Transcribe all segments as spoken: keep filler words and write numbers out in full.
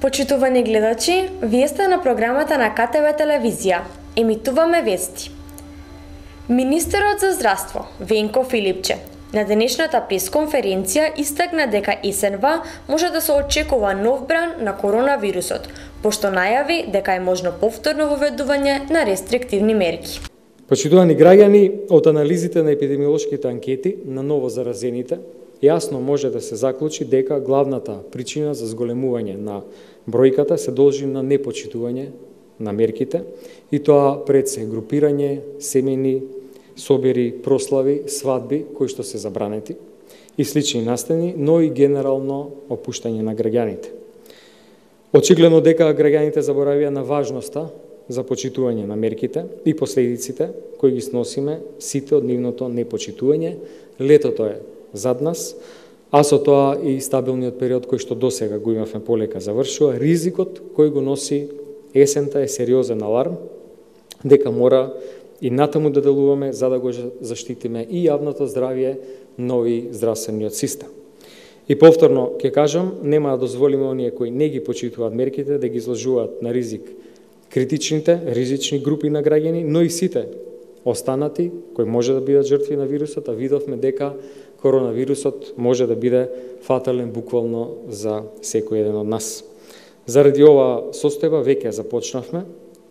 Почитувани гледачи, вие сте на програмата на К Т В телевизија. Емитуваме вести. Министерот за здравство Венко Филипче на денешната пресконференција истакна дека есенва може да се очекува нов бран на коронавирусот, пошто најави дека е можно повторно воведување на рестриктивни мерки. Почитувани граѓани, од анализите на епидемиолошките анкети на ново заразените, јасно може да се заклучи дека главната причина за зголемување на бројката се должи на непочитување на мерките, и тоа пред се групирање, семени, собери, прослави, свадби кои што се забранети и слични настани, но и генерално опуштање на граѓаните. Очигледно дека граѓаните заборавија на важноста за почитување на мерките и последиците кои ги сносиме сите од нивното непочитување. Летото е зад нас, а со тоа и стабилниот период кој што досега го имавме полека завршува. Ризикот кој го носи есента е сериозен аларм дека мора и натаму да делуваме за да го заштитиме и јавното здравје, но и здравствениот систем. И повторно ќе кажам, нема да дозволиме оние кои не ги почитуваат мерките да ги изложуваат на ризик критичните, ризични групи на граѓани, но и сите останати кои може да бидат жртви на вирусот, а видовме дека коронавирусот може да биде фатален буквално за секој еден од нас. Заради ова состојба веќе започнавме,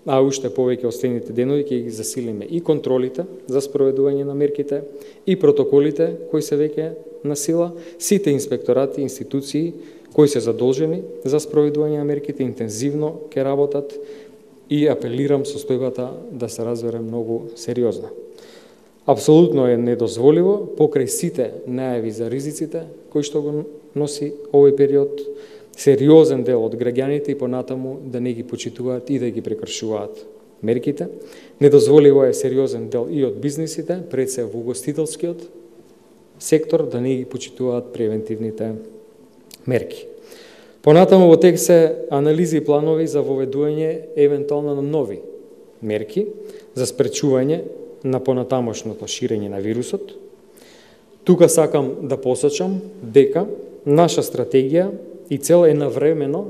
а уште повеќе од следните денови ќе ги засилиме и контролите за спроведување на мерките и протоколите кои се веќе на сила, сите инспекторати, институции кои се задолжени за спроведување на мерките интензивно ќе работат и апелирам состојбата да се разбере многу сериозно. Апсолутно е недозволиво покрај сите најави за ризиците кои што го носи овој период, сериозен дел од граѓаните и понатаму да не ги почитуваат и да ги прекршуваат мерките. Недозволиво е сериозен дел и од бизнисите, пред се во угостителскиот сектор, да не ги почитуваат превентивните мерки. Понатаму во тек се анализи и планови за воведување евентуално на нови мерки за спречување на понатамошното ширење на вирусот. Тука сакам да посочам дека наша стратегија и цел е навремено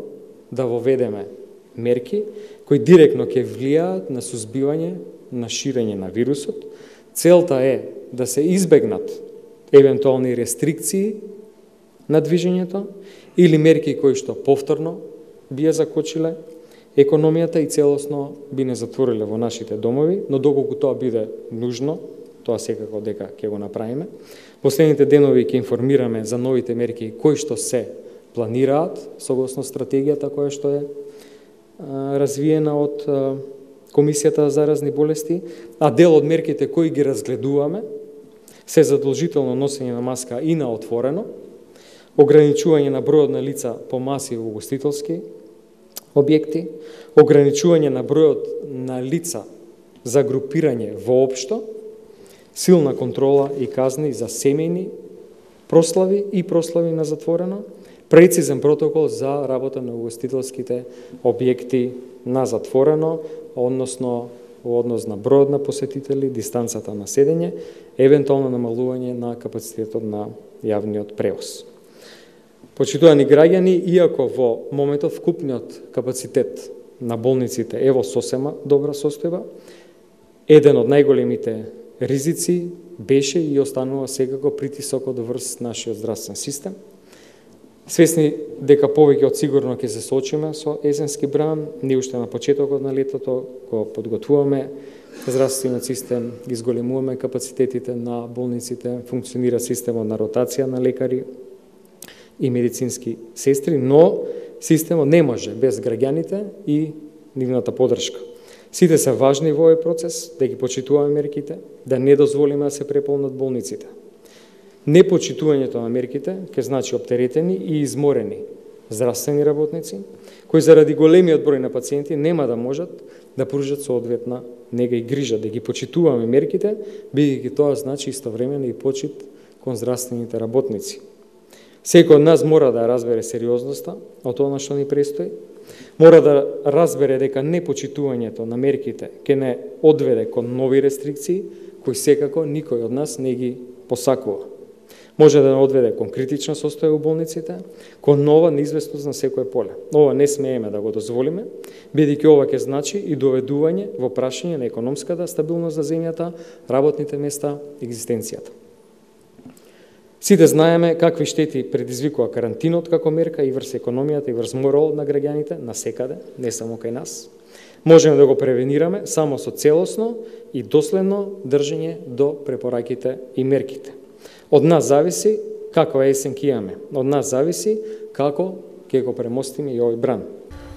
да воведеме мерки кои директно ќе влијаат на сузбивање на ширење на вирусот. Целта е да се избегнат евентуални рестрикции на движењето или мерки кои што повторно би ја закочиле економијата и целосно би не затвориле во нашите домови, но доколку тоа биде нужно, тоа секако дека ќе го направиме. Последните денови ќе информираме за новите мерки кои што се планираат согласно стратегијата која што е а, развиена од а, Комисијата за заразни болести, а дел од мерките кои ги разгледуваме се задолжително носење на маска и на отворено, ограничување на бројот на лица по маси во угостителски објекти, ограничување на бројот на лица за групирање воопшто, силна контрола и казни за семејни прослави и прослави на затворено, прецизен протокол за работа на угостителските објекти на затворено, односно во однос на бројот на посетители, дистанцата на седење, евентуално намалување на капацитетот на јавниот превоз. Почитувани граѓани, иако во моментов вкупниот капацитет на болниците е во сосема добра состојба, еден од најголемите ризици беше и останува секако притисокот врз нашиот здравствен систем. Свесни дека повеќе од сигурно ќе се соочиме со есенски бран, ние уште на почетокот на летото го подготвуваме здравствениот систем, ги зголемуваме капацитетите на болниците, функционира системот на ротација на лекари и медицински сестри, но системот не може без граѓаните и нивната поддршка. Сите се важни во овој процес, да ги почитуваме мерките, да не дозволиме да се преполнат болниците. Непочитувањето на мерките ќе значи оптеретени и изморени здравствени работници, кои заради големиот број на пациенти нема да можат да пружат соодветна нега и грижа. Да ги почитуваме мерките, бидејќи тоа значи истовремено и почит кон здравствените работници. Секој од нас мора да разбере сериозноста од тоа што ни престои, мора да разбере дека непочитувањето на мерките ќе не одведе кон нови рестрикции, кои секако никој од нас не ги посакува. може да одведе кон критична состоја у болниците, кон нова неизвестност на секое поле. Ова не смееме да го дозволиме, бидејќи ова ќе значи и доведување во прашање на економската стабилност за земјата, работните места, екзистенцијата. Сите знаеме какви штети предизвикува карантинот како мерка и врз економијата и врз моралот на граѓаните насекаде, не само кај нас. Можеме да го превенираме само со целосно и доследно држење до препораките и мерките. Од нас зависи каква есен ќе имаме. Од нас зависи како ќе го премостиме и овој бран.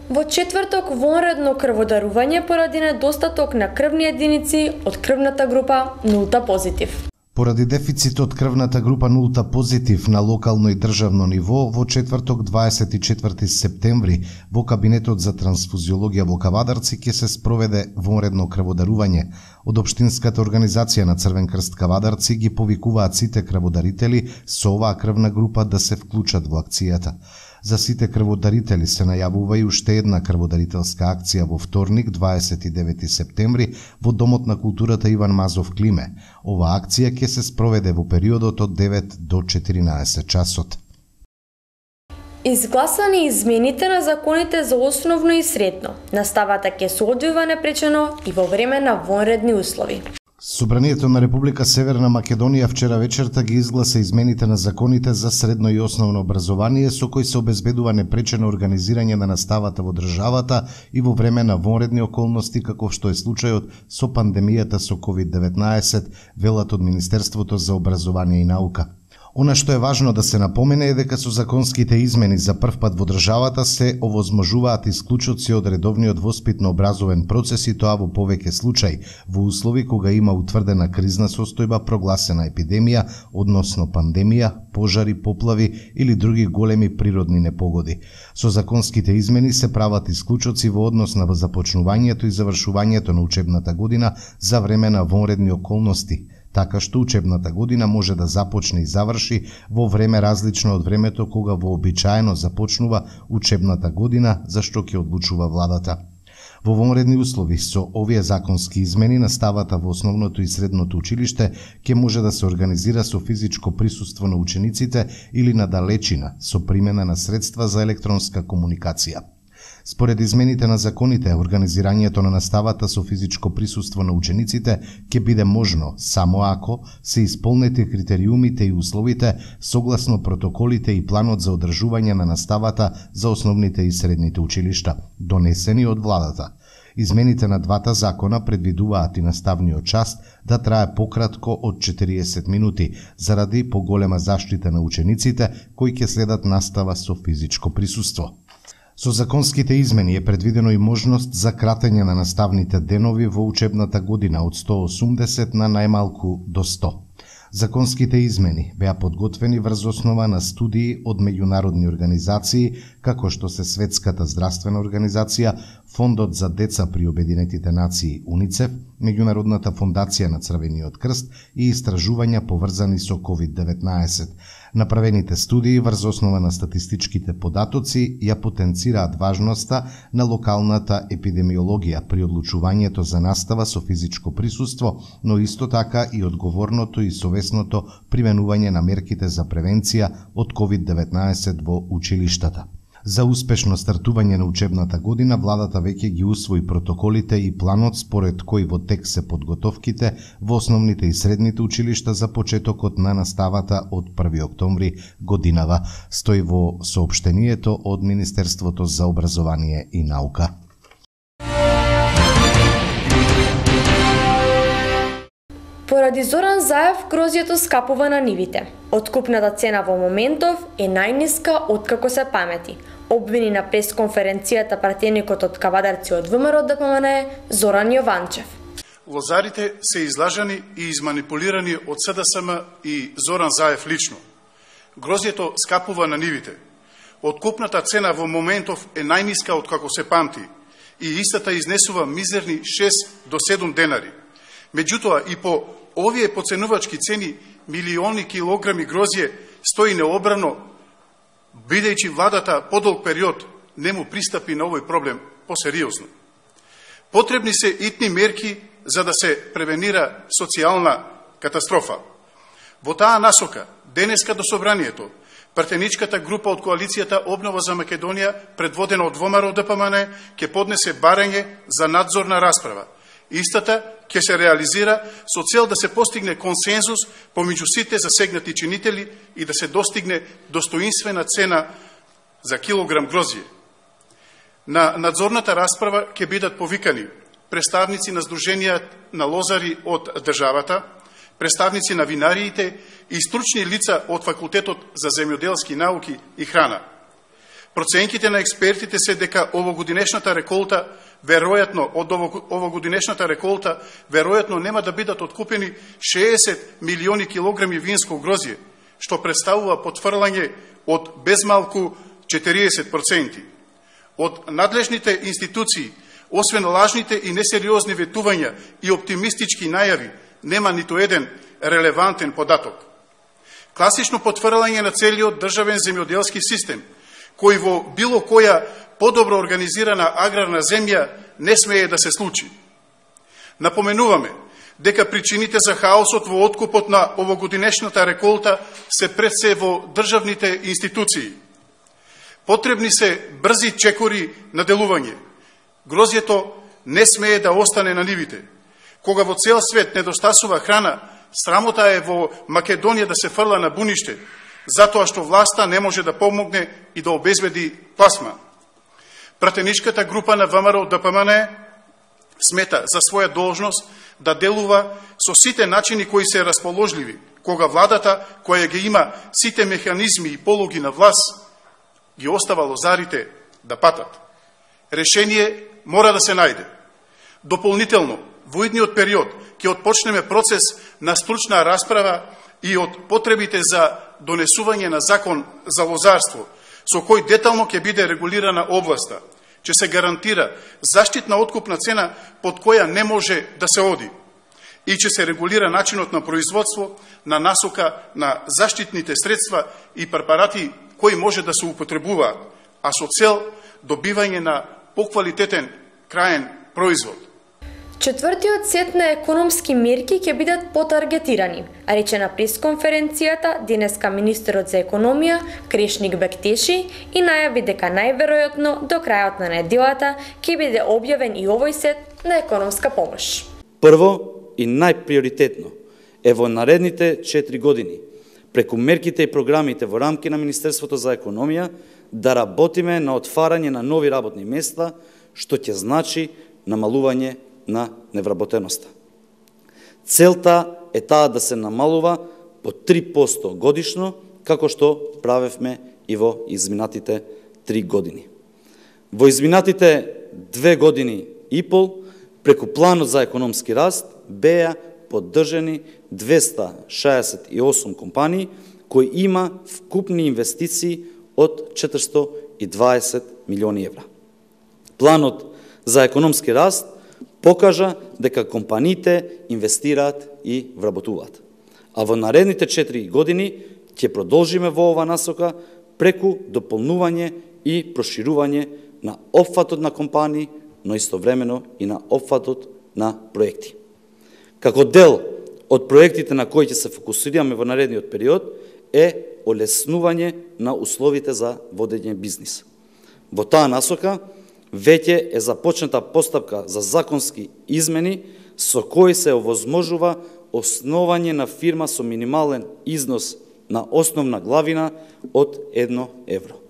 Во четврток вонредно крводарување поради недостаток на крвни единици од крвната група нулта позитив. Поради дефицит од крвната група нулта позитив на локално и државно ниво, во четврток дваесет и четврти септември во Кабинетот за трансфузиологија во Кавадарци ќе се спроведе вонредно крводарување. Од Општинската организација на Црвен крст Кавадарци ги повикуваат сите крводарители со оваа крвна група да се вклучат во акцијата. За сите крводарители се најавува и уште една крводарителска акција во вторник, дваесет и девети септември, во Домот на културата Иван Мазов Климе. Ова акција ќе се спроведе во периодот од девет до четиринаесет часот. Изгласани измените на законите за основно и средно. Наставата ќе се одвива непречено и во време на вонредни услови. Собранието на Република Северна Македонија вчера вечерта ги изгласа измените на законите за средно и основно образование, со кои се обезбедува непречено организирање на наставата во државата и во време на вонредни околности, како што е случајот со пандемијата со ковид деветнаесет, велат од Министерството за образование и наука. Она што е важно да се напомене е дека со законските измени за прв пат во државата се овозможуваат исклучоци од редовниот воспитно-образовен процес и тоа во повеќе случаи, во услови кога има утврдена кризна состојба, прогласена епидемија, односно пандемија, пожари, поплави или други големи природни непогоди. Со законските измени се прават исклучоци во однос на започнувањето и завршувањето на учебната година за време на вонредни околности, така што учебната година може да започне и заврши во време различно од времето кога вообичаено започнува учебната година, за што ќе одлучува владата. Во вонредни услови со овие законски измени наставата во основното и средното училиште ќе може да се организира со физичко присуство на учениците или на далечина со примена на средства за електронска комуникација. Според измените на законите, организирањето на наставата со физичко присуство на учениците ќе биде можно само ако се исполнети критериумите и условите согласно протоколите и планот за одржување на наставата за основните и средните училишта, донесени од владата. Измените на двата закона предвидуваат и наставниот час да трае пократко од четириесет минути, заради поголема заштита на учениците кои ќе следат настава со физичко присуство. Со законските измени е предвидено и можност за кратење на наставните денови во учебната година од сто и осумдесет на најмалку до сто. Законските измени беа подготвени врз основа на студии од меѓународни организации, како што се Светската здравствена организација, Фондот за деца при Обединетите нации УНИЦЕФ, Меѓународната фондација на Црвениот крст и истражувања поврзани со ковид деветнаесет. Направените студии врз основа на статистичките податоци ја потенцираат важноста на локалната епидемиологија при одлучувањето за настава со физичко присуство, но исто така и одговорното и совесното применување на мерките за превенција од ковид деветнаесет во училиштата. За успешно стартување на учебната година, владата веќе ги усвои протоколите и планот според кој во тек се подготовките во основните и средните училишта за почетокот на наставата од први октомври годинава, стои во соопштението од Министерството за образование и наука. Поради Зоран Заев, грозјето скапува на нивите. Откупната цена во моментов е најниска откако се памети, обвини на пресконференцијата пратеникот од Кавадарци од ВМРО Д П М Н Зоран Јованчев. Лозарите се излажани и изманипулирани од С Д С М и Зоран Заев лично. Грозјето скапува на нивите. Откупната цена во моментов е најниска откако се памти и истата изнесува мизерни шест до седум денари. Меѓутоа и по овие поценувачки цени милиони килограми грозје стои необрано, бидејќи владата подолг период не му пристапи на овој проблем посериозно. Потребни се итни мерки за да се превенира социјална катастрофа. Во таа насока денеска до собранието, пратеничката група од коалицијата Обнова за Македонија, предводена од ВМРО Д П М Н, ќе поднесе барање за надзорна расправа. Истата ќе се реализира со цел да се постигне консензус помеѓу сите засегнати чинители и да се достигне достоинствена цена за килограм грозје. На надзорната расправа ќе бидат повикани представници на Сдруженија на лозари од државата, представници на винариите и стручни лица од Факултетот за земјоделски науки и храна. Проценките на експертите се дека овогодинешната реколта, веројатно од овогодинешната реколта, веројатно нема да бидат откупени шеесет милиони килограми винско грозје, што представува потфрлање од безмалку четириесет проценти. Од надлежните институции, освен лажните и несериозни ветувања и оптимистички најави, нема ниту еден релевантен податок. Класично потврлање на целиот државен земјоделски систем, кој во било која подобро организирана аграрна земја не смее да се случи. Напоменуваме дека причините за хаосот во откупот на овогодинешната реколта се пред се во државните институции. Потребни се брзи чекори на делување. Грозјето не смее да остане на нивите. Кога во цел свет недостасува храна, срамота е во Македонија да се фрла на буниште, затоа што власта не може да помогне и да обезбеди пласма. Пратеничката група на ВМРО Д П М Н смета за своја должност да делува со сите начини кои се расположливи, кога владата, која ги има сите механизми и полуги на власт, ги остава лозарите да патат. Решение мора да се најде. Дополнително, во идниот период ќе отпочнеме процес на стручна расправа и од потребите за донесување на закон за лозарство, со кој детално ќе биде регулирана областа, ќе се гарантира заштитна откупна цена под која не може да се оди и ќе се регулира начинот на производство на насока на заштитните средства и препарати кои може да се употребуваат, а со цел добивање на поквалитетен краен производ. Четвртиот сет на економски мерки ќе бидат потаргетирани, а рече на пресконференцијата денеска министерот за економија Крешник Бектеши и најави дека најверојатно до крајот на неделата ќе биде објавен и овој сет на економска помош. Прво и најприоритетно е во наредните четири години преку мерките и програмите во рамки на Министерството за економија да работиме на отварање на нови работни места, што ќе значи намалување на невработеноста. Целта е таа да се намалува по три проценти годишно, како што правевме и во изминатите три години. Во изминатите две години и пол, преку планот за економски раст, беа поддржани двеста шеесет и осум компании, кои има вкупни инвестиции од четиристотини и дваесет милиони евра. Планот за економски раст покажа дека компаниите инвестираат и вработуваат. А во наредните четири години ќе продолжиме во ова насока преку дополнување и проширување на опфатот на компании, но истовремено и на опфатот на проекти. Како дел од проектите на кои ќе се фокусираме во наредниот период е олеснување на условите за водење бизнис. Во таа насока веќе е започната постапка за законски измени со кои се овозможува основање на фирма со минимален износ на основна главина од едно евро.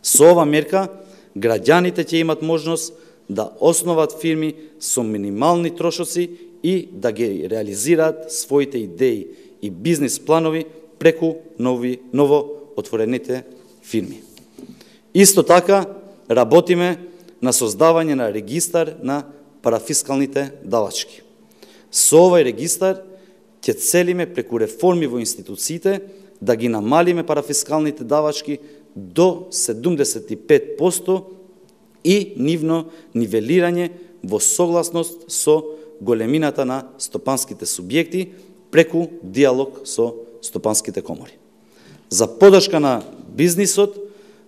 Со ова мерка граѓаните ќе имат можност да основат фирми со минимални трошоци и да ги реализираат своите идеи и бизнис планови преку нови ново отворените фирми. Исто така работиме на создавање на регистар на парафискалните давачки. Со овој регистар ќе целиме преку реформи во институциите да ги намалиме парафискалните давачки до седумдесет и пет проценти и нивно нивелирање во согласност со големината на стопанските субјекти преку диалог со стопанските комори. За поддршка на бизнисот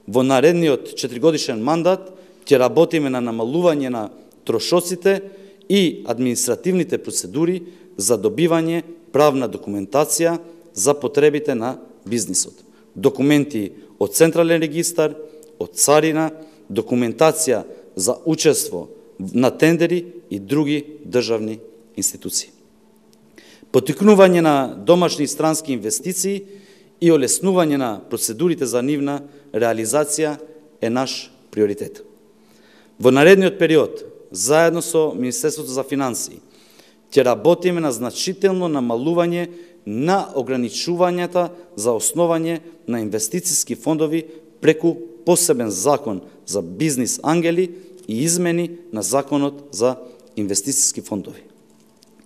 во наредниот четиригодишен мандат ќе работиме на намалување на трошоците и административните процедури за добивање правна документација за потребите на бизнисот. Документи од Централен регистар, од Царина, документација за учество на тендери и други државни институции. Поттикнување на домашни и странски инвестиции и олеснување на процедурите за нивна реализација е наш приоритет. Во наредниот период, заедно со Министерството за финансии, ќе работиме на значително намалување на ограничувањата за основање на инвестициски фондови преку посебен закон за бизнис ангели и измени на законот за инвестициски фондови.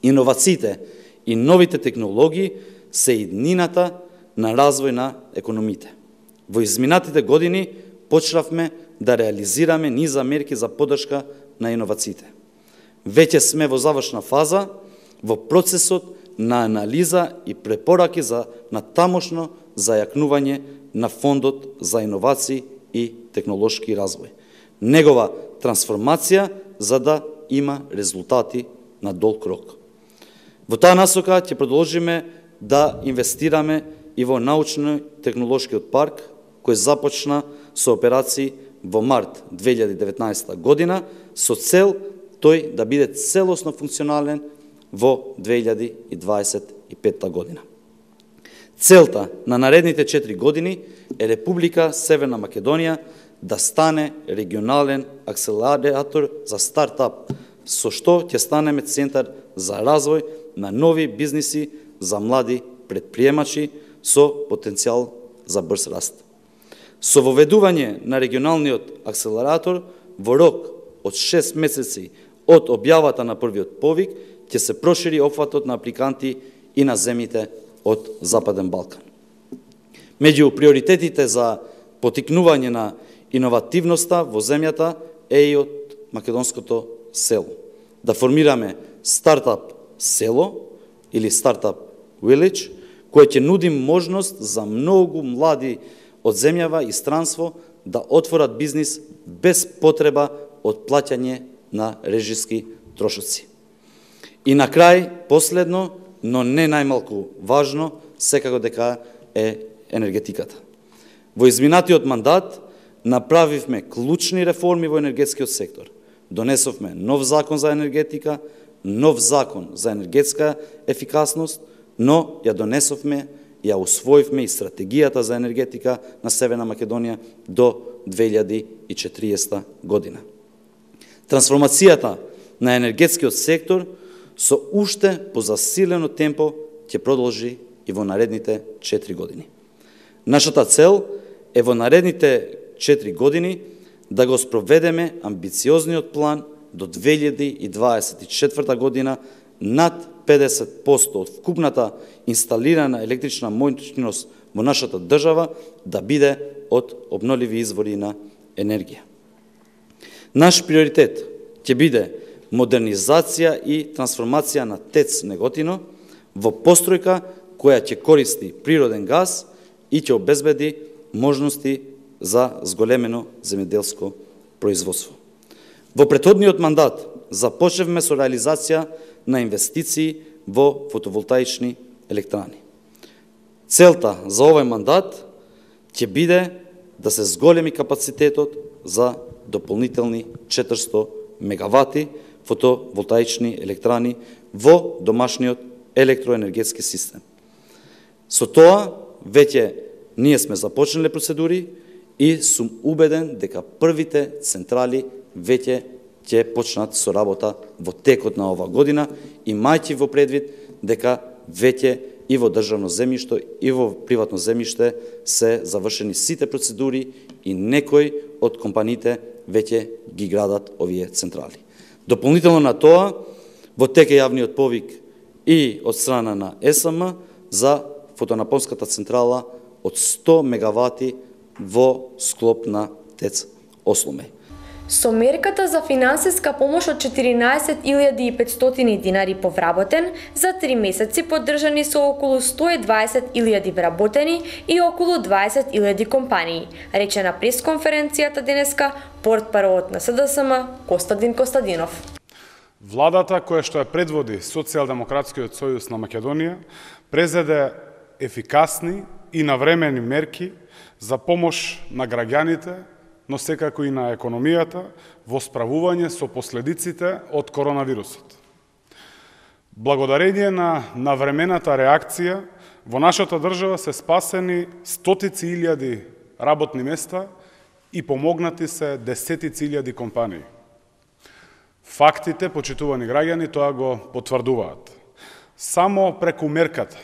Иновациите и новите технологии се иднината на развој на економите. Во изминатите години почнавме да реализираме низа мерки за поддршка на иновациите. Веќе сме во завршна фаза во процесот на анализа и препораки за натамошно зајакнување на фондот за иновации и технолошки развој. Негова трансформација за да има резултати на долг рок. Во таа насока ќе продолжиме да инвестираме и во научно-технолошкиот парк, кој започна со операции во март две илјади и деветнаесетта година, со цел тој да биде целосно функционален во две илјади и дваесет и петта година. Целта на наредните четири години е Република Северна Македонија да стане регионален акселератор за стартап, со што ќе станеме центар за развој на нови бизниси за млади предприемачи со потенцијал за брз раст. Со воведување на регионалниот акселератор во рок од шест месеци од објавата на првиот повик ќе се прошири опфатот на апликанти и на земјите од Западен Балкан. Меѓу приоритетите за поттикнување на иновативноста во земјата е и од македонското село. Да формираме стартап село или стартап village, кој ќе нуди можност за многу млади од земјава и странство да отворат бизнис без потреба од плаќање на режиски трошоци. И на крај, последно, но не најмалку важно, секако дека е енергетиката. Во изминатиот мандат направивме клучни реформи во енергетскиот сектор. Донесовме нов закон за енергетика, нов закон за енергетска ефикасност, но ја донесовме, ја усвоивме и стратегијата за енергетика на Северна Македонија до две илјади и четириесетта година. Трансформацијата на енергетскиот сектор со уште позасилено темпо ќе продолжи и во наредните четири години. Нашата цел е во наредните четири години да го спроведеме амбициозниот план до две илјади и дваесет и четврта година над педесет проценти од вкупната инсталирана електрична моќност во нашата држава да биде од обновливи извори на енергија. Наш приоритет ќе биде модернизација и трансформација на ТЕЦ Неготино во постројка која ќе користи природен газ и ќе обезбеди можности за зголемено земјоделско производство. Во претходниот мандат започнавме со реализација на инвестиции во фотоволтаични електрани. Целта за овој мандат ќе биде да се зголеми капацитетот за дополнителни четиристо мегавати фотоволтаични електрани во домашниот електроенергетски систем. Со тоа веќе ние сме започнале процедури и сум убеден дека првите централи веќе ќе почнат со работа во текот на оваа година, имајќи во предвид дека веќе и во државно земјиште и во приватно земјиште се завршени сите процедури и некои од компаниите веќе ги градат овие централи. Дополнително на тоа, во тек е јавниот повик и од страна на ЕСМ за фотонапонската централа од сто мегавати во склоп на ТЕЦ Осломеј. Со мерката за финансиска помош од четиринаесет илјади и петстотини динари повработен, за три месеци поддржани со околу сто и дваесет илјади вработени и околу дваесет илјади компании, рече на пресконференцијата денеска портпаровот на СДСМ Костадин Костадинов. Владата која што ја предводи Социјалдемократскиот сојуз на Македонија презеде ефикасни и навремени мерки за помош на граѓаните, но секако и на економијата во справување со последиците од коронавирусот. Благодарение на навремената реакција, во нашата држава се спасени стотици илјади работни места и помогнати се десетици илјади компании. Фактите, почитувани граѓани, тоа го потврдуваат. Само преку мерката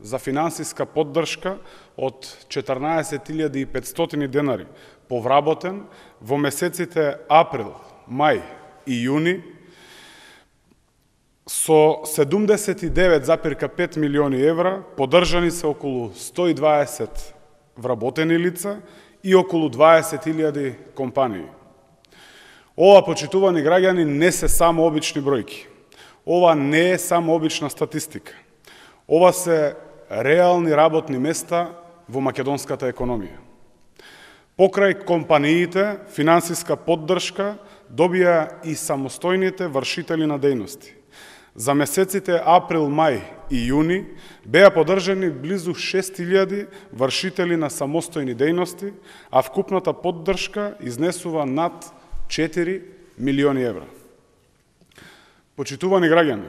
за финансиска поддршка од четрнаесет илјади и петстотини денари повработен во месеците април, мај и јуни со седумдесет и девет запирка пет милиони евра поддржани се околу сто и дваесет вработени лица и околу дваесет илјади компании. Ова, почитувани граѓани, не се само обични бројки. Ова не е само обична статистика. Ова се реални работни места во македонската економија. Покрај компаниите, финансиска поддршка добија и самостојните вршители на дејности. За месеците април, мај и јуни беа поддржани близу шест илјади вршители на самостојни дејности, а вкупната поддршка изнесува над четири милиони евра. Почитувани граѓани,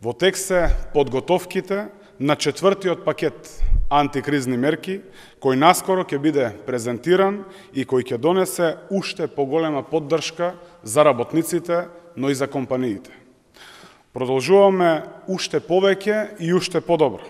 во тек се подготовките на четвртиот пакет антикризни мерки, кој наскоро ќе биде презентиран и кој ќе донесе уште поголема поддршка за работниците, но и за компаниите. Продолжуваме уште повеќе и уште подобро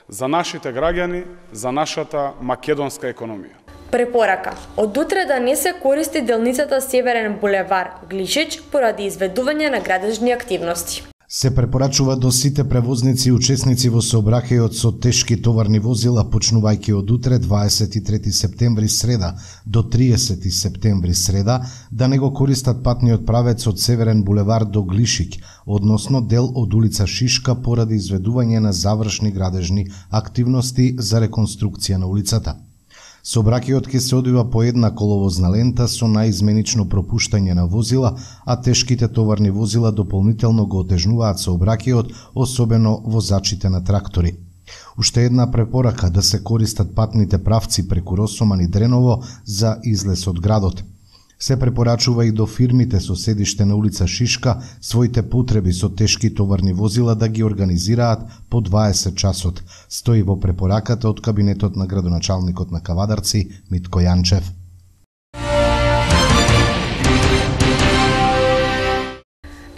за нашите граѓани, за нашата македонска економија. Препорака. Од утре да не се користи делницата Северен булевар Глишич поради изведување на градежни активности. Се препорачува до сите превозници и учесници во сообраќајот со тешки товарни возила, почнувајќи од утре дваесет и трети септември среда до триесети септември среда, да не го користат патниот правец од Северен булевар до Глишик, односно дел од улица Шишка поради изведување на завршни градежни активности за реконструкција на улицата. Сообраќајот ќе се одвива по една коловозна лента со наизменично пропуштање на возила, а тешките товарни возила дополнително го отежнуваат сообраќајот, особено возачите на трактори. Уште една препорака да се користат патните правци преку Росоман и Дреново за излез од градот. Се препорачува и до фирмите со седиште на улица Шишка своите потреби со тешки товарни возила да ги организираат по дваесет часот, стои во препораката од кабинетот на градоначалникот на Кавадарци Митко Јанчев.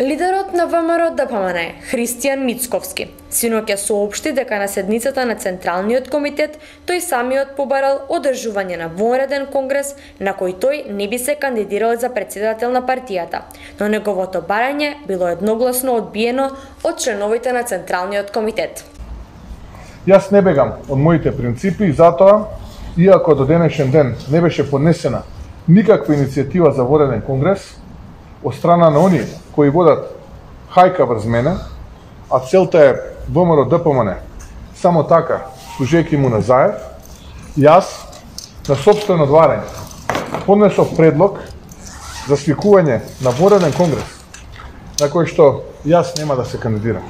Лидерот на ВМРО Д П М Н Христијан Мицковски синоќа соопшти дека на седницата на Централниот комитет тој самиот побарал одржување на вонреден конгрес на кој тој не би се кандидирал за претседател на партијата, но неговото барање било едногласно одбиено од членовите на Централниот комитет. Јас не бегам од моите принципи и затоа, иако до денешен ден не беше поднесена никаква иницијатива за вонреден конгрес од страна на оние кои водат хајка врз мене, а целта е ВМРО Д П М Н само така, служејќи му на Заев, јас на сопствено одварање поднесов предлог за свикување на вонреден конгрес, на кој што јас нема да се кандидирам.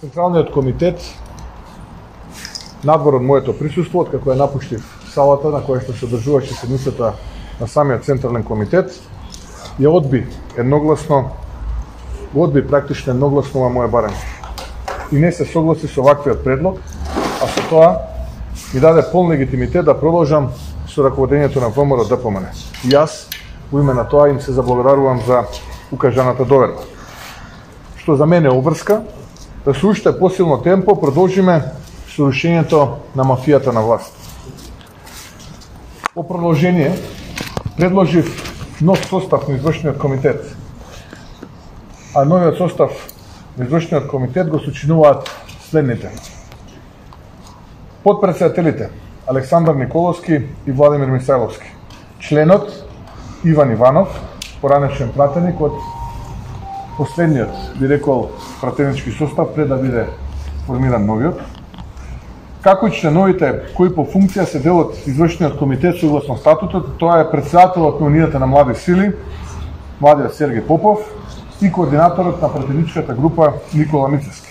Централниот комитет, надвор од моето присуство, откако ја напуштив салата на која што се одржуваше седницата на самиот Централен комитет, ја одби едногласно, одби практично едногласно ова моје барање. И не се согласи со ваквиот предлог, а со тоа ми даде полн легитимитет да продолжам со раководењето на ВМРО Д П М Н. И јас, во име на тоа, им се заблагодарувам за укажаната доверба. Што за мене обврска, да со уште посилно темпо продолжиме со рушењето на мафијата на власт. По продолжение, предложив нов состав на извршниот комитет, а новиот состав на извршниот комитет го сочинуваат следните. Подпредседателите Александар Николовски и Владимир Мисајловски. Членот Иван Иванов, поранешен пратеник од последниот, би рекол, пратенички состав пред да биде формиран новиот. Како и членовите кои по функција се дел од извршниот комитет согласно статутот, тоа е претседателот на Унијата на млади сили, младиот Сергеј Попов, и координаторот на пратеничката група Никола Мицевски.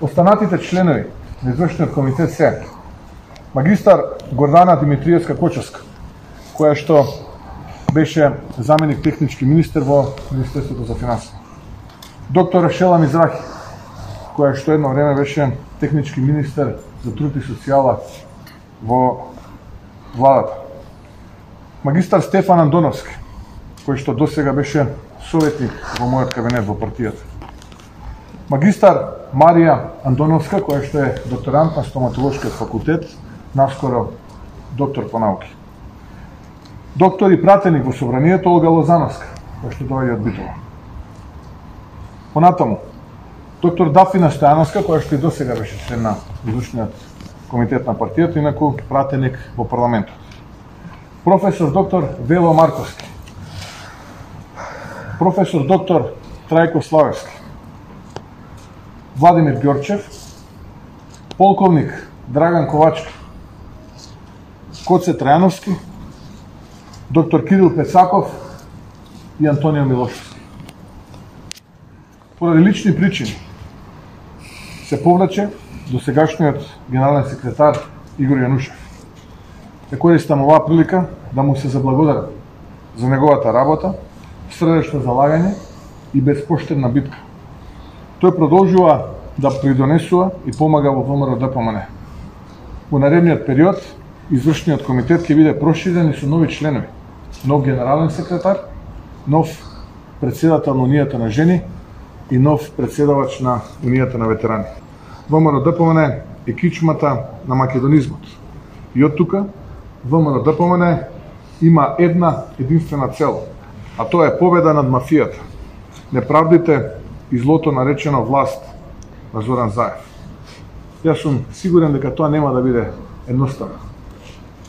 Останатите членови на извршниот комитет се магистар Гордана Димитриевска Кочевска, која што беше заменик технички министер во Министерството за финансии. Доктор Шела Мизрахи, која што едно време беше технички министер за труд и социјала во владата. Магистар Стефан Андоновски, кој што досега беше советник во мојот кабинет во партијата. Магистар Марија Андоновска, која што е докторант на стоматолошкиот факултет, наскоро доктор по науки. Доктор и пратеник во собранието Олга Лозановска, која што доаѓа од Битола. Понатаму, доктор Дафина Стојановска, која што и досега беше член на извршниот комитет на партијата, инаку пратеник во парламентот. Професор доктор Вело Марковски. Професор доктор Трајко Славевски. Владимир Ѓорчев. Полковник Драган Ковачки. Коце Трајановски. Доктор Кирил Пецаков и Антонио Милошевски. Поради лични причини се повлече досегашниот генерален секретар Игор Јанушев. Ја користам оваа прилика да му се заблагодарам за неговата работа, срдечно залагање и безпоштедна битка. Тој продолжува да придонесува и помага во ВМРО Д П М Н. Во наредниот период, извршниот комитет ќе биде проширен и со нови членови, нов генерален секретар, нов председател на Унијата на жени и нов председавач на Унијата на ветерани. ВМРО Д П М Н е кичмата на македонизмот. И од тука ВМРО Д П М Н има една единствена цел, а тоа е победа над мафијата, неправдите и злото наречено власт на Зоран Заев. Јас сум сигурен дека тоа нема да биде едноставно.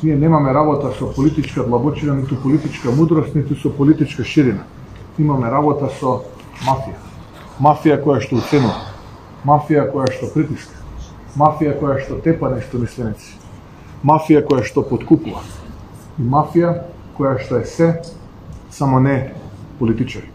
Ние немаме работа со политичка длабочина, ниту политичка мудрост, ниту со политичка ширина. Имаме работа со мафија. Мафија која што уценува, мафија која што притиска, мафија која што тепа неистомисленици, мафија која што подкупува и мафија која што е се, само не политичари.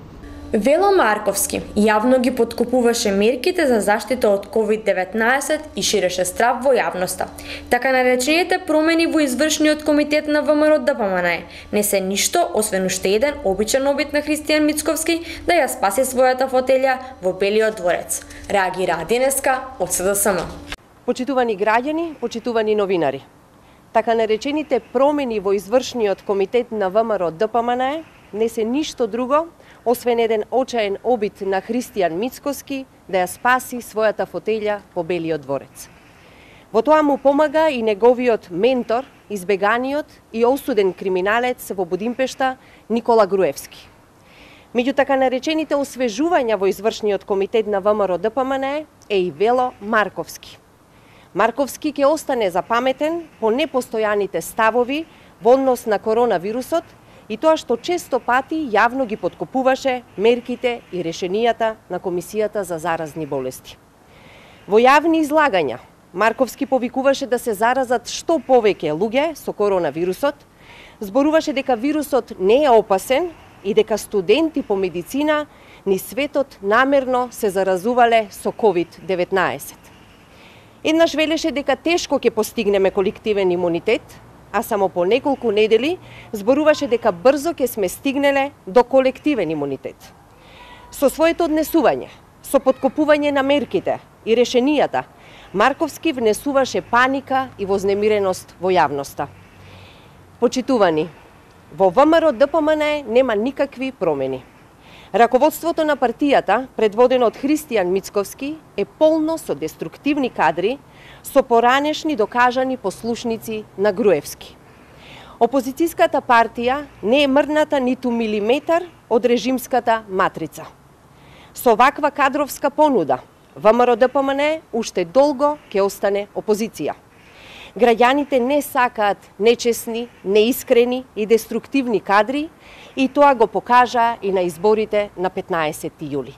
Вело Марковски јавно ги подкупуваше мерките за заштита од ковид деветнаесет и ширеше страв во јавноста. Така наречените промени во извршниот комитет на ВМРО Д П М Н не се ништо освен уште еден обичен обид на Христијан Мицковски да ја спаси својата фотелја во Белиот дворец. Реагира денеска од С Д С М. Почитувани граѓани, почитувани новинари. Така наречените промени во извршниот комитет на ВМРО Д П М Н не се ништо друго освен еден очаен обид на Христијан Мицковски да ја спаси својата фотелја по Белиот дворец. Во тоа му помага и неговиот ментор, избеганиот и осуден криминалец во Будимпешта Никола Груевски. Меѓу така наречените освежувања во извршниот комитет на ВМРО Д П М Н е и Вело Марковски. Марковски ќе остане запаметен по непостојаните ставови во однос на коронавирусот и тоа што често пати јавно ги подкупуваше мерките и решенијата на Комисијата за заразни болести. Во јавни излагања Марковски повикуваше да се заразат што повеќе луѓе со коронавирусот, зборуваше дека вирусот не е опасен и дека студенти по медицина ни светот намерно се заразувале со ковид деветнаесет. Еднаш велеше дека тешко ќе постигнеме колективен имунитет, а само по неколку недели зборуваше дека брзо ќе сме стигнеле до колективен имунитет. Со своето однесување, со подкопување на мерките и решенијата, Марковски внесуваше паника и вознемиреност во јавноста. Почитувани, во ВМРО Д П М Н нема никакви промени. Раководството на партијата, предводено од Христијан Мицковски, е полно со деструктивни кадри, со поранешни докажани послушници на Груевски. Опозицијската партија не е мрдната ниту милиметар од режимската матрица. Со ваква кадровска понуда, ВМРО Д П М Н уште долго ќе остане опозиција. Граѓаните не сакаат нечесни, неискрени и деструктивни кадри и тоа го покажа и на изборите на петнаесети јули.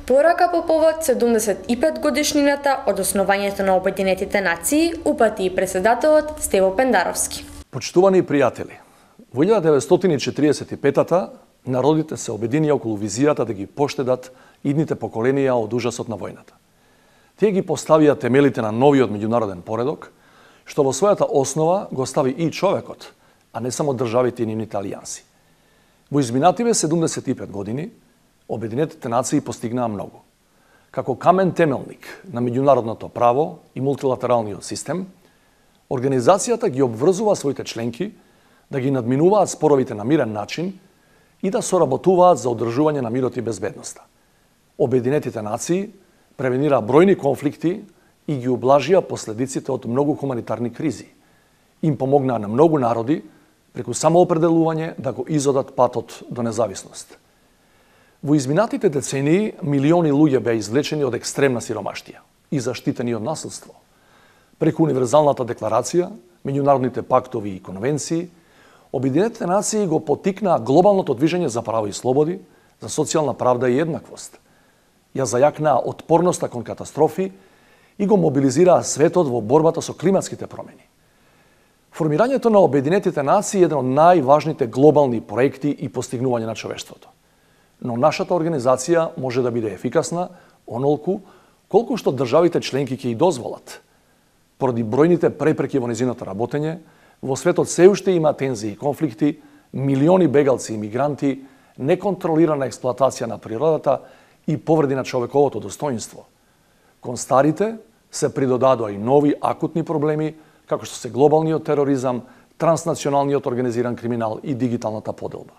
Порака по повод седумдесет и пет годишнината од основањето на Обединетите нации упати и председателот Стево Пендаровски. Почитувани пријатели, во илјада деветстотини и четиридесет и петата народите се обединија околу визијата да ги поштедат идните поколенија од ужасот на војната. Тие ги поставија темелите на новиот меѓународен поредок, што во својата основа го стави и човекот, а не само државите и нивните алијанси. Во изминативе седумдесет и пет години, Обединетите нации постигнаа многу. Како камен темелник на меѓународното право и мултилатералниот систем, организацијата ги обврзува своите членки да ги надминуваат споровите на мирен начин и да соработуваат за одржување на мирот и безбедноста. Обединетите нации превенира бројни конфликти и ги ублажија последиците од многу хуманитарни кризи. Им помогнаа на многу народи преку самоопределување да го изодат патот до независност. Во изминатите децении милиони луѓе беа извлечени од екстремна сиромаштија и заштитени од насилство. Преку Универзалната декларација, меѓународните пактови и конвенции, Обединетите нации го поттикнаа глобалното движење за право и слободи, за социјална правда и еднаквост. Ја зајакнаа отпорноста кон катастрофи и го мобилизираа светот во борбата со климатските промени. Формирањето на Обединетите нации е еден од најважните глобални проекти и постигнување на човештвото. Но нашата организација може да биде ефикасна онолку колку што државите членки ќе и дозволат. Поради бројните препреки во нејзиното работење, во светот се уште има тензии и конфликти, милиони бегалци и мигранти, неконтролирана експлоатација на природата и повреди на човековото достоинство. Кон старите се придодадоа и нови акутни проблеми, како што се глобалниот тероризам, транснационалниот организиран криминал и дигиталната поделба.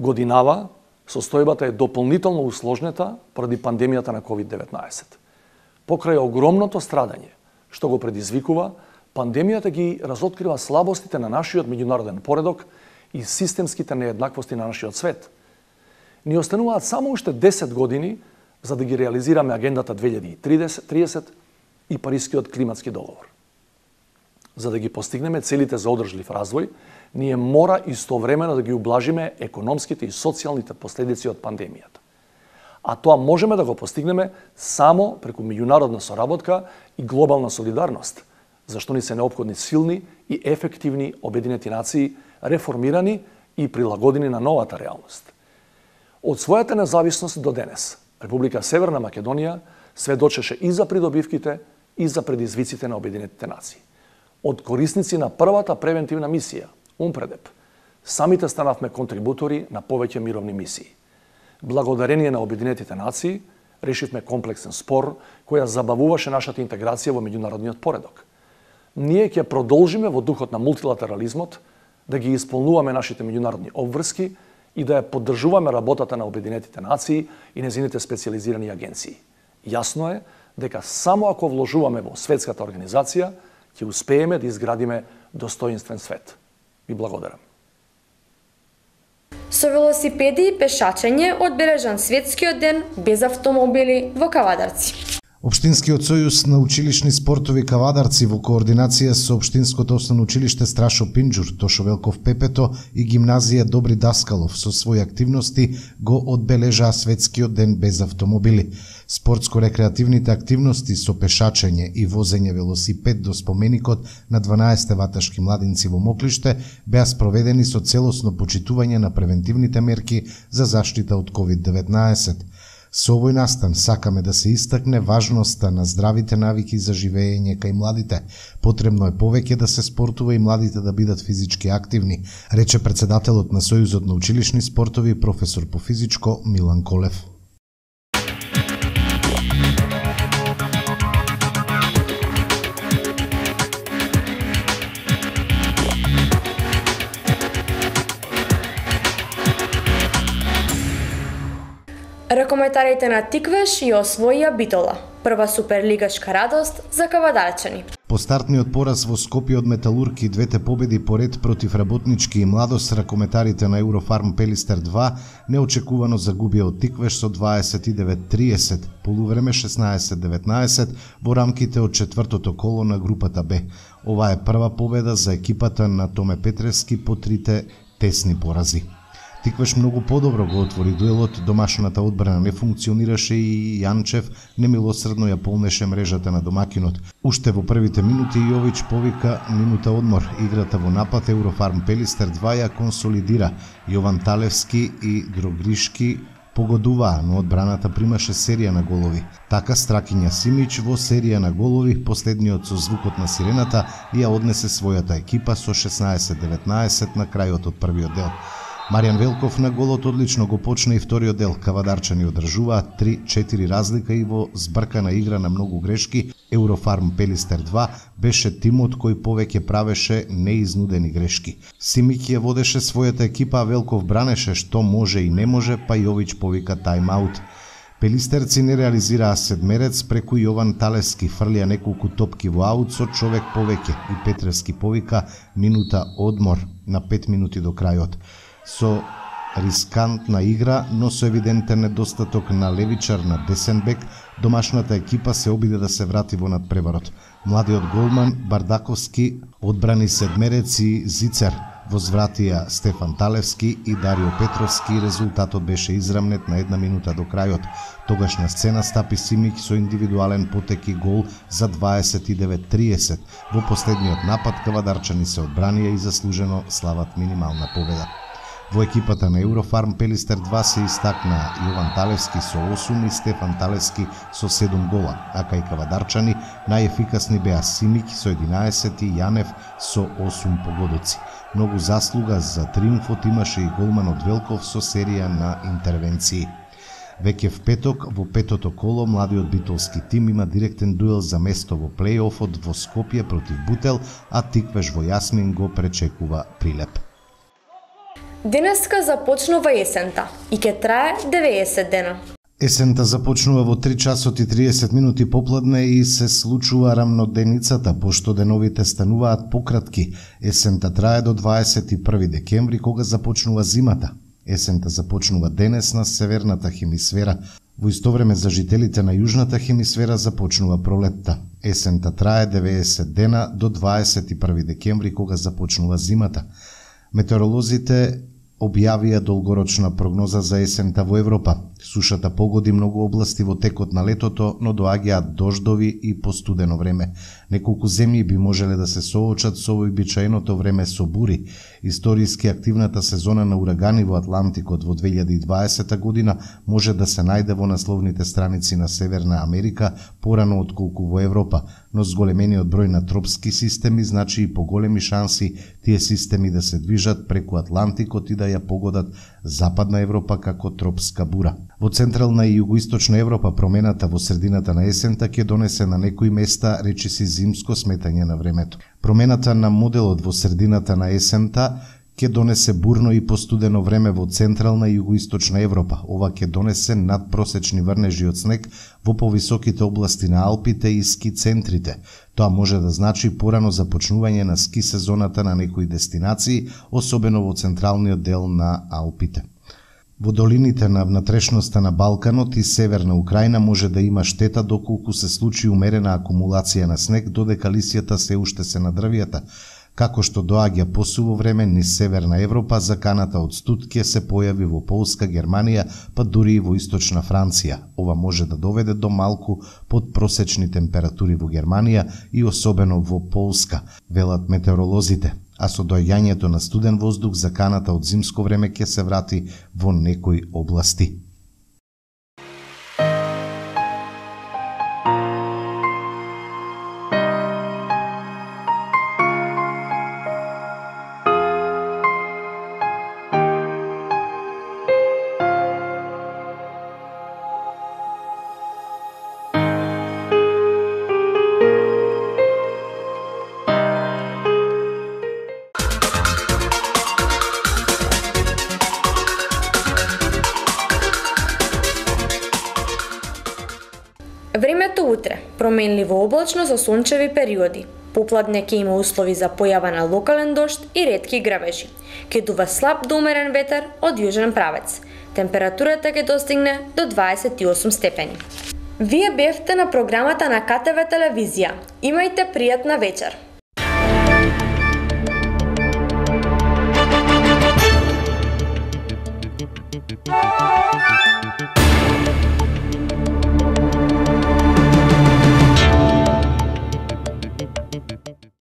Годинава, состојбата е дополнително усложнета поради пандемијата на ковид деветнаесет. Покрај огромното страдање што го предизвикува, пандемијата ги разоткрива слабостите на нашиот меѓународен поредок и системските нееднаквости на нашиот свет. Ни остануваат само уште десет години за да ги реализираме агендата две илјади и триесет и Парискиот климатски договор. За да ги постигнеме целите за одржлив развој, ние мора истовремено да ги ублажиме економските и социјалните последици од пандемијата. А тоа можеме да го постигнеме само преку меѓународна соработка и глобална солидарност, зашто ни се неопходни силни и ефективни Обединети нации, реформирани и прилагодени на новата реалност. Од својата независност до денес, Република Северна Македонија сведочеше и за придобивките и за предизвиците на Обединетите нации. Од корисници на првата превентивна мисија, УНПРЕДЕП, самите станавме контрибутори на повеќе мировни мисии. Благодарение на Обединетите нации, решивме комплексен спор која забавуваше нашата интеграција во меѓународниот поредок. Ние ќе продолжиме во духот на мултилатерализмот да ги исполнуваме нашите меѓународни обврски и да ја поддржуваме работата на Обединетите нации и нејзините специјализирани агенции. Јасно е дека само ако вложуваме во светската организација, ќе успееме да изградиме достоинствен свет. Ви благодарам. Со велосипеди и пешачење одбележан светскиот ден без автомобили во Кавадарци. Општинскиот сојуз на училишни спортови Кавадарци во координација со Општинското основно училиште Страшо Пинџур, Тошо Велков Пепето и гимназија Добри Даскалов со своји активности го одбележаа светскиот ден без автомобили. Спортско-рекреативните активности со пешачење и возење велосипед до споменикот на дванаесет ваташки младинци во Моклиште беа спроведени со целосно почитување на превентивните мерки за заштита од ковид деветнаесет. Со овој настан сакаме да се истакне важноста на здравите навики за живење кај младите. Потребно е повеќе да се спортува и младите да бидат физички активни, рече председателот на Сојузот на училишни спортови професор по физичко Милан Колев. Ракометарите на Тиквеш ја освоија битола, прва суперлигашка радост за кавадарчани. По стартниот пораз во Скопје од Металург и двете победи поред против Работнички и Младост, ракометарите на Eurofarm Пелистер два неочекувано загубија од Тиквеш со дваесет и девет триесет, полувреме шеснаесет деветнаесет во рамките од четвртото коло на групата Б. Ова е прва победа за екипата на Томе Петрески по трите тесни порази. Тиквеш многу подобро го отвори дуелот, домашната одбрана не функционираше и Јанчев немилосредно ја полнеше мрежата на домакинот. Уште во првите минути Јович повика минута одмор. Играта во напад Eurofarm Пелистер два ја консолидира. Јован Талевски и Дрогришки погодуваа, но одбраната примаше серија на голови. Така Стракиња Симич во серија на голови, последниот со звукот на сирената, ја однесе својата екипа со шеснаесет деветнаесет на крајот од првиот дел. Маријан Велков на голот одлично го почна и вториот дел. Кавадарчани одржуваа три четири разлика и во збркана игра на многу грешки, Еврофарм Пелистер два беше тимот кој повеќе правеше неизнудени грешки. Симик ја водеше својата екипа, а Велков бранеше што може и не може, па Јович повика тајм-аут. Пелистерци не реализираа седмерец, преку Јован Талевски фрлија неколку топки во аут со човек повеќе и Петревски повика минута одмор на пет минути до крајот. Со рискантна игра, но со евидентен недостаток на левичар на десен бек, домашната екипа се обиде да се врати во надпреварот. Младиот голман Бардаковски одбрани седмерец и Зицер, возвратија Стефан Талевски и Дарио Петровски, резултатот беше израмнет на една минута до крајот. Тогаш на сцена стапи Симик со индивидуален потек и гол за дваесет и девет триесет. Во последниот напад кавадарчани се одбранија и заслужено слават минимална победа. Во екипата на Еврофарм Пелистер два се истакна Јован Талевски со осум и Стефан Талевски со седум гола, а кај кавадарчани најефикасни беа Симик со единаесет и Јанев со осум погодоци. Многу заслуга за триумфот имаше и голманот Велков со серија на интервенции. Веќе в петок, во петото коло, младиот битолски тим има директен дуел за место во плејофот во Скопје против Бутел, а Тиквеш во Јасмин го пречекува Прилеп. Денеска започнува есента и ќе трае деветдесет дена. Есента започнува во три часот и триесет минути попладне и се случува рамноденицата, пошто деновите стануваат пократки. Есента трае до дваесет и први декември, кога започнува зимата. Есента започнува денес на северната хемисфера. Во исто време за жителите на јужната хемисфера започнува пролетта. Есента трае деветдесет дена до дваесет и први декември, кога започнува зимата. Метеоролозите објавија долгорочна прогноза за есента во Европа. Сушата погоди многу области во текот на летото, но доаѓаат дождови и постудено време. Неколку земји би можеле да се соочат со вообичаеното време со бури. Историски активната сезона на урагани во Атлантикот во две илјади и дваесета година може да се најде во насловните страници на Северна Америка порано отколку во Европа, но зголемениот број на тропски системи значи и поголеми шанси тие системи да се движат преку Атлантикот и да ја погодат Западна Европа како тропска бура. Во Централна и Југоисточна Европа промената во средината на есента ќе донесе на некои места речиси зимско сметање на времето. Промената на моделот во средината на есента ќе донесе бурно и постудено време во Централна и Југоисточна Европа. Ова ќе донесе надпросечни врнежи од снег во повисоките области на Алпите и ски центрите. Тоа може да значи порано започнување на ски сезоната на некои дестинации, особено во централниот дел на Алпите. Во долините на внатрешноста на Балканот и Северна Украина може да има штета доколку се случи умерена акумулација на снег, додека лисијата се уште се на дрвијата. Како што доаѓа посуво време низ Северна Европа, заканата од студ ќе се појави во Полска, Германија, па дури и во Источна Франција. Ова може да доведе до малку подпросечни температури во Германија и особено во Полска, велат метеоролозите. А со доаѓањето на студен воздух, заканата од зимско време ќе се врати во некои области. Времето утре променливо облачно со сончеви периоди. Попладне ќе има услови за појава на локален дожд и ретки грабежи. Ќе дува слаб до умерен ветер од јужен правец. Температурата ќе достигне до дваесет и осум степени. Вие бевте на програмата на К Т В телевизија. Имајте пријатна вечер. Thank you.